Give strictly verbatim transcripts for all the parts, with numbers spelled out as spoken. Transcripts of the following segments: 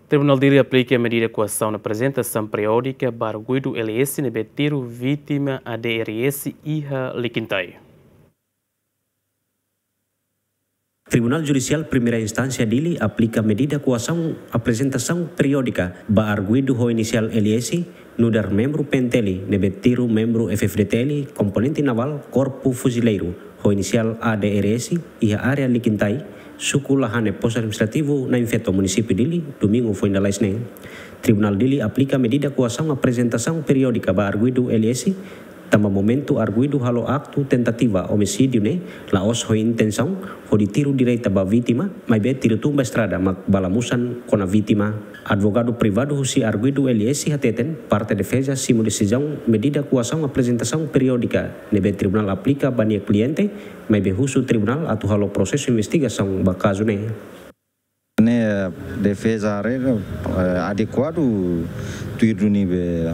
Tribunál Dili aplika medida koasaun aprezentasaun periódika ba arguidu L S ne'ebé tiru vítima A D R S iha Liquintay. Tribunál Judisiál Primeira Instánsia Dili aplika medida koasaun aprezentasaun periódika ba arguidu ho inisiál L S, nu'udar membru P N T L ne'ebé tiru membru F F D T L, komponente navál Korpu Fuzileiru, ho inisiál A D R S, iha área Liquintay, suku Lahane, Postu Administrativu Nain Feto, Munisípiu Dili, Domingu foin lalais ne'e. Tribunál Dili aplika medida koasaun aprezentasaun periódika ba arguidu L S, tanba momentu arguidu halo aktu tentativa omisídiu ne'e la'ós ho intensaun hodi tiru direta ba vítima, maibé tiru tun ba estrada mak bala musan kona vítima. Advogadu privadu husi arguidu L S hateten, parte defeza simu desizaun medida koasaun aprezentasaun periódika ne'ebé tribunál aplika ba nia kliente, maibé husu tribunál atu halo prosesu investigasaun ba kazu ne'e. Ne'e defeza haree, eh, adekuadu tuir duni be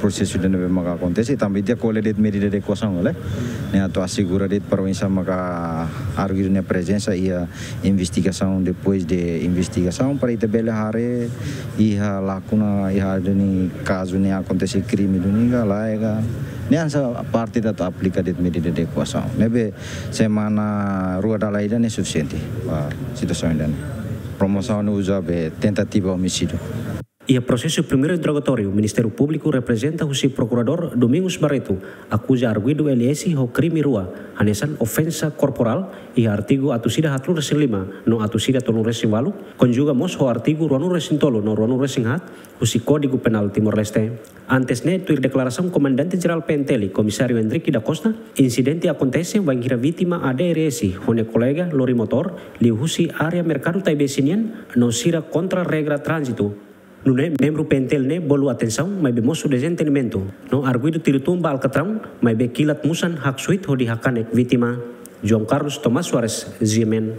prosesu ida ne'ebé maka akontese, tanba ita ko'alia de'it medida de koasaun, ne'e atu asegura de'it para oinsá maka arguidu nia prezensa iha investigasaun, depois de investigasaun, para ita bele haree iha lakuna, iha duni kazu ne'e akontese krime duni ka lae ka. Ne'e hanesan parte atu aplika de'it medida de koasaun. Ne'ebé semana rua dala ida ne'e sufisiente ba situasaun ida-ne'e. Promosaun ne'e uza be tentativa omisídiu. Iha prosesu primeiru interrogatóriu, Ministériu Públiku reprezenta husi Prokuradór Domingos Barreto akuza arguidu L S ho krime rua, hanesan ofensa korporál, iha artigu atus ida haatnulu resin lima no atus ida tolunulu resin ualu, konjuga mós ho artigu ruanulu resin tolu no ruanulu resin haat husi Kódigu Penál Timor-Leste. Antes ne'e, tuir deklarasaun Komandante Jerál P N T L, Komisáriu Henrique da Costa, insidente akontese wainhira vítima A D R S ho nia kolega lori motór liuhusi área Merkadu Taibesi nian no sira kontra regra tránzitu. Nune'e membru P N T L ne'e bolu atensaun, maibé mosu dezentendimentu, no arguidu tiru tun ba alkatraun, maibé kilat musan haksoit hodi hakanek vítima. João Carlos Tomás Soares, G M N.